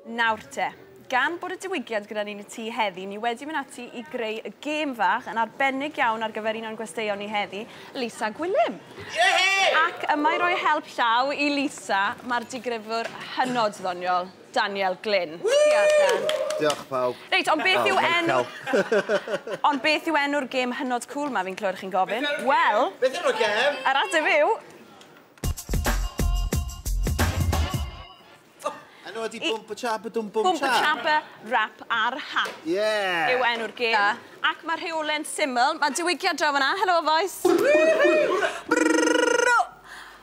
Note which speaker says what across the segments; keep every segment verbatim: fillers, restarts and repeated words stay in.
Speaker 1: Nawr te, gan bod y diwygiad gyda ni'n y tŷ heddi, ni wedi mynd ati i greu y gêm fach yn arbennig iawn ar gyfer un o'n gwesteion ni heddi, Lisa Gwilym.
Speaker 2: Yeah!
Speaker 1: Ac yma i roi help llaw i Lisa, mae'r digrifwr hynod ddoniol, Daniel Glyn. Diolch, Dan.
Speaker 3: Diolch, pawb.
Speaker 1: Reit, ond beth yw
Speaker 3: Oh,
Speaker 1: enw...
Speaker 3: Michael.
Speaker 1: Ond beth yw enw'r gêm hynod cool ma fi'n clywed chi'n gofyn? Wel,
Speaker 2: Beth yw'r gêm?
Speaker 1: yr ateb yw...
Speaker 3: Enw ydi Bwmp y Chap y Dwm Bwm
Speaker 1: Bwmp y
Speaker 3: Chap.
Speaker 1: Chap y Rap ar Hap.
Speaker 3: Yeah!
Speaker 1: Yw enw'r gêm. Ac mae'r rheolau'n syml. Mae diwygiad draw fan'na. Helo, boys.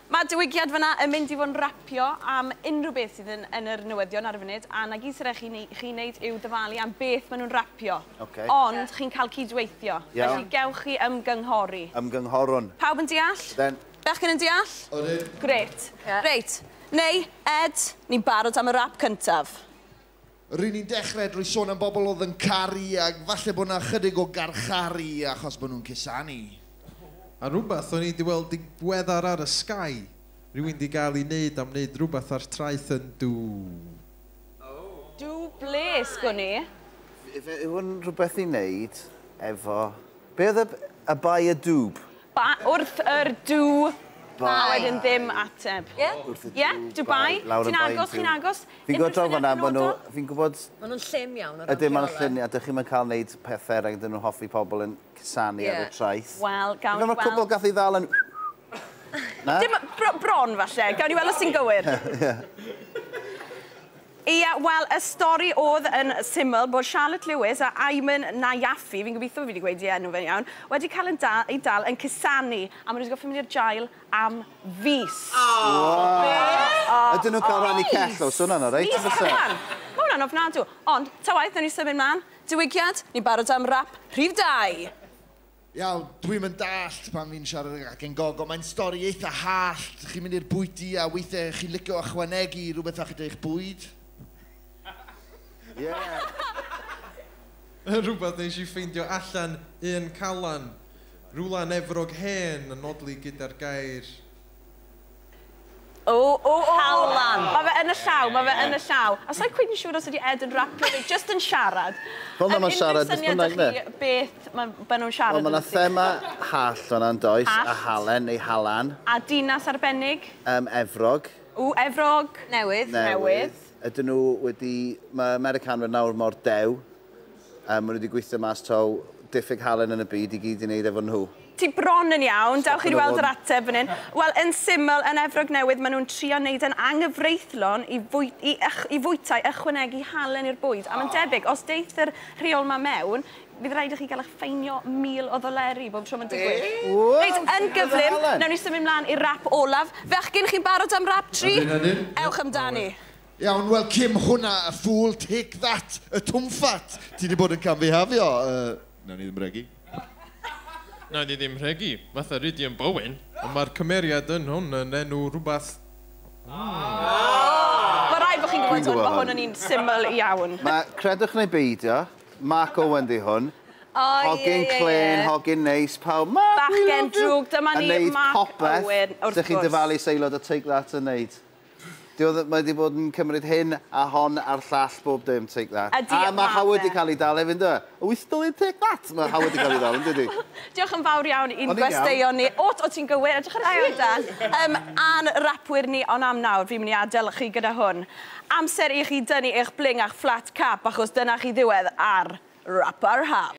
Speaker 1: Mae diwygiad fan'na yn mynd i fod yn rapio am unrhyw beth sydd yn, yn yr newyddion ar y funud, a na gyd sydd chi, chi wneud yw dyfalu am beth maen nhw'n rapio.
Speaker 3: Okay.
Speaker 1: Ond chi'n cael cydweithio.
Speaker 3: Iawn.
Speaker 1: Felly gewch chi ymgynghori.
Speaker 3: Ymgynghorwn.
Speaker 1: Pawb yn deall?
Speaker 3: Then.
Speaker 1: Bechgyn yn deall?
Speaker 3: Odyn.
Speaker 1: Grêt.
Speaker 4: Yeah.
Speaker 1: Reit. Neu, Ed, ni'n barod am y rap cyntaf.
Speaker 5: Ry'n ni'n dechrau drwy sôn am bobl oedd yn caru ac falle bod 'na chydig o garcharu achos bod nhw'n cusanu.
Speaker 6: A rhywbeth o'n i wedi weld digweddar ar y Sky. Rhywun wedi gael ei wneud am wneud rhywbeth ar traeth yn dŵ.
Speaker 1: Dŵ ble, sgwn i?
Speaker 3: Ife yw hwn rhywbeth i wneud efo... Be oedd y, y bai y dŵb?
Speaker 1: Ba, wrth yr dŵ, a
Speaker 3: Bai.
Speaker 1: wedyn ddim ateb.
Speaker 4: Ie?
Speaker 3: Wrth y
Speaker 1: Ie,
Speaker 3: dŵ,
Speaker 1: Dubai.
Speaker 3: Lawr y
Speaker 1: Ti'n
Speaker 3: bai
Speaker 1: agos,
Speaker 3: dŵ.
Speaker 1: chi'n agos?
Speaker 3: Fi'n gwybod draw fan'na,
Speaker 1: Unrhyw
Speaker 3: ma' nhw...
Speaker 1: syniad
Speaker 3: Fi'n gwybod...
Speaker 4: Maen nhw'n llym iawn o ran
Speaker 3: Ydyn, maen nhw'n
Speaker 4: rheolau.
Speaker 3: llym, a dych chi'm yn cael wneud pethau rhaid nhw'n hoffi pobl yn cusanu ar y
Speaker 4: Ie.
Speaker 3: traeth.
Speaker 1: Wel, gawn
Speaker 3: Mae'r
Speaker 1: ni
Speaker 3: cwbl
Speaker 1: weld.
Speaker 3: gath ei ddal yn... Na?
Speaker 1: Dim bro, bron, falle. Gawn ni weld os ti'n gywir. Ia, wel, y stori oedd yn syml bod Charlotte Lewis a Ayman Nayafi, fi'n gobeithio fi wedi gweud i enw fe'n iawn, wedi cael yn dal, ei dal yn cusanu, a maen nhw wedi gorfod mynd i'r jail am fis.
Speaker 3: Ydyn nhw'n cael rhannu cell o, so hwnna'n oreit?
Speaker 1: Mis cyfan. Mae hwnna'n ofnadw. Ond, ta waeth, nawn ni symud mlaen. Diwygiad, ni'n barod am rap rhif dau.
Speaker 5: Iawn, dwi'm yn dallt pan fi'n siarad ag acen gogo. Mae'n stori eitha hallt. Chi'n mynd i'r bwyty a weithiau chi'n licio ychwanegu rhywbeth at eich bwyd.
Speaker 3: Yeah.
Speaker 6: Rhywbeth nes i ffeindio allan un calan. Rwla'n Efrog hen yn nodli gyda'r gair.
Speaker 1: O, o, o. Halan. Mae fe yn y llaw, mae fe yn y llaw. A sa'n cweit yn siŵr os ydi Ed yn rapio neu just yn siarad.
Speaker 3: Fel na
Speaker 1: Yym,
Speaker 3: ma'n siarad,
Speaker 1: unrhyw syniad
Speaker 3: beth bynnag,
Speaker 1: 'da chi beth ma' ma' nhw'n siarad
Speaker 3: Wel, mae yna
Speaker 1: ambyti?
Speaker 3: thema hallt fan'na yn does, a
Speaker 1: Hallt.
Speaker 3: halen neu halan,
Speaker 1: A dinas arbennig.
Speaker 3: um, Efrog.
Speaker 1: O, Efrog.
Speaker 4: Newydd.
Speaker 1: Newydd.
Speaker 3: Ydyn nhw wedi... Mae Americanwyr nawr mor dew. Um, maen nhw wedi gweithio mas taw diffyg halen yn y byd i gyd i wneud efo nhw.
Speaker 1: Ti bron yn iawn, dewch i
Speaker 3: Stopio
Speaker 1: weld
Speaker 3: nhw
Speaker 1: yr ateb fan hyn. Wel, yn syml, yn Efrog Newydd, maen nhw'n trio wneud yn anghyfreithlon i, fwy, i, ych, i fwytai ychwanegu halen i'r bwyd. A mae'n debyg, os deith yr rheol ma mewn, fydd rhaid i chi gael eich ffeinio mil o ddoleri bob tro mae'n digwydd.
Speaker 3: Wow,
Speaker 1: Reit, yn gyflym,
Speaker 3: halen.
Speaker 1: nawn ni symud mlaen i'r rap olaf. Fechgyn, chi'n barod am rap tri?
Speaker 5: Ydyn, ydyn.
Speaker 1: Ewch amdani.
Speaker 5: Iawn, wel, Kim, hwnna, y fool, take that, y twmffat. Ti wedi bod yn camfihafio. Uh, Nawn ni ddim regi.
Speaker 6: Na, ni ddim rhegi. Fatha Rhydian Bowen. Ond mae'r cymeriad yn hwn yn enw rhywbeth...
Speaker 1: Mae rhaid bod chi'n gwybod
Speaker 3: Dwi'n
Speaker 1: hwn,
Speaker 3: gwybod
Speaker 1: mae hwn
Speaker 3: hwn.
Speaker 1: yn un syml iawn.
Speaker 3: Mae, credwch neu beidio, Mark Owen di hwn.
Speaker 4: O, ie,
Speaker 3: Hogyn
Speaker 4: ie,
Speaker 3: clên,
Speaker 4: ie.
Speaker 3: hogyn neis, pawb. Mark, we
Speaker 1: Bachgen
Speaker 3: love you.
Speaker 1: drwg, dyma
Speaker 3: Yn
Speaker 1: ni,
Speaker 3: neud
Speaker 1: Mark
Speaker 3: popeth
Speaker 1: Owen, wrth
Speaker 3: Dych chi'n
Speaker 1: gwrs.
Speaker 3: dyfalu seilod o Take That yn neud. Di oedd, mae wedi bod yn cymryd hyn a hon a'r llall bob dim, Take That.
Speaker 1: Ydi,
Speaker 3: a mae
Speaker 1: ma'
Speaker 3: Howard
Speaker 1: fe.
Speaker 3: wedi cael ei dal hefyd, ynddo? Are we still in Take That? Mae Howard wedi cael ei dal, yn dydi?
Speaker 1: Diolch yn fawr iawn i'n
Speaker 3: O'n i'n
Speaker 1: gwesteion ni. O, o ti'n gywir, edrych ar chi, Dan. Um, a'n rapwyr ni, ond am nawr, fi'n mynd i adael chi gyda hwn. Amser i chi dynnu eich bling a'ch flat cap, achos dyna chi ddiwedd ar Rap ar Hap.